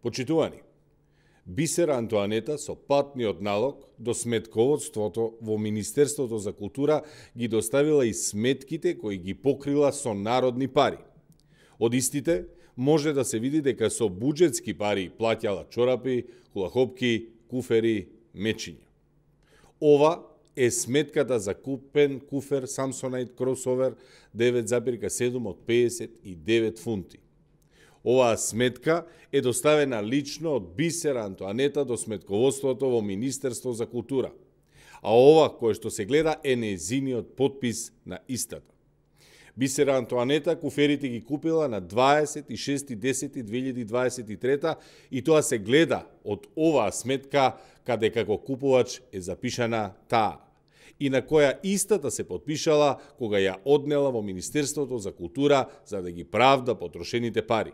Почитувани, Бисера Антоанета со патниот налог до сметководството во Министерството за култура ги доставила и сметките кои ги покрила со народни пари. Од истите може да се види дека со буџетски пари плаќала чорапи, кулахопки, куфери, мечиња. Ова е сметката за купен куфер Samsonite Crossover 9,7 од 59 фунти. Оваа сметка е доставена лично од Бисера Антоанета до сметководството во Министерство за култура, а ова кое што се гледа е нејзиниот подпис на истата. Бисера Антоанета куферите ги купила на 26.10.2023 и тоа се гледа од оваа сметка каде како купувач е запишана таа и на која истата се подпишала кога ја однела во Министерството за култура за да ги правда потрошените пари.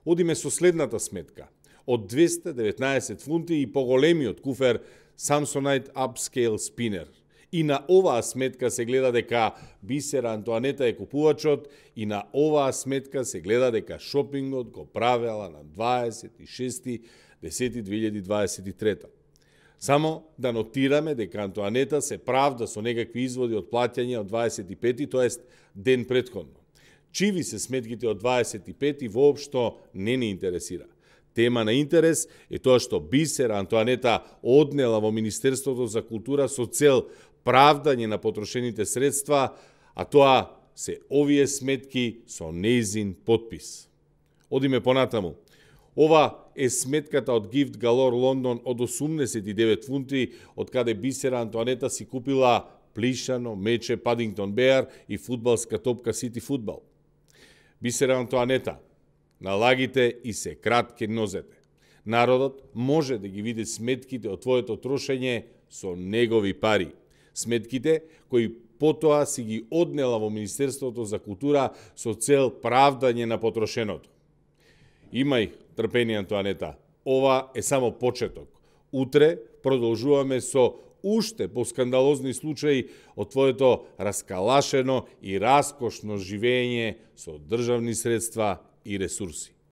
Одиме со следната сметка. Од 219 фунти и поголемиот куфер Samsonite Upscale Spinner. И на оваа сметка се гледа дека Бисера Антоанета е купувачот и на оваа сметка се гледа дека шопингот го правела на 26.10.2023. Само да нотираме дека Антоанета се правда со некакви изводи од плаќање од 25, тоест ден претходно. Чиви се сметките од 25 воопшто не ни интересира. Тема на интерес е тоа што Бисера Антоанета однела во Министерството за култура со цел правдање на потрошените средства, а тоа се овие сметки со нејзин подпис. Одиме понатаму. Ова е сметката од Gift Galore Лондон од 89 фунти, од каде Бисера Антоанета си купила плишано мече Падингтон Беар и фудбалска топка Сити Фудбал. Бисера Антоанета, налагите и се кратки нозете. Народот може да ги види сметките од твоето трошење со негови пари. Сметките кои потоа си ги однела во Министерството за култура со цел правдање на потрошеното. Имај трпение, Антоанета. Ова е само почеток. Утре продолжуваме со уште поскандалозни случаи од твоето раскалашено и раскошно живење со државни средства и ресурси.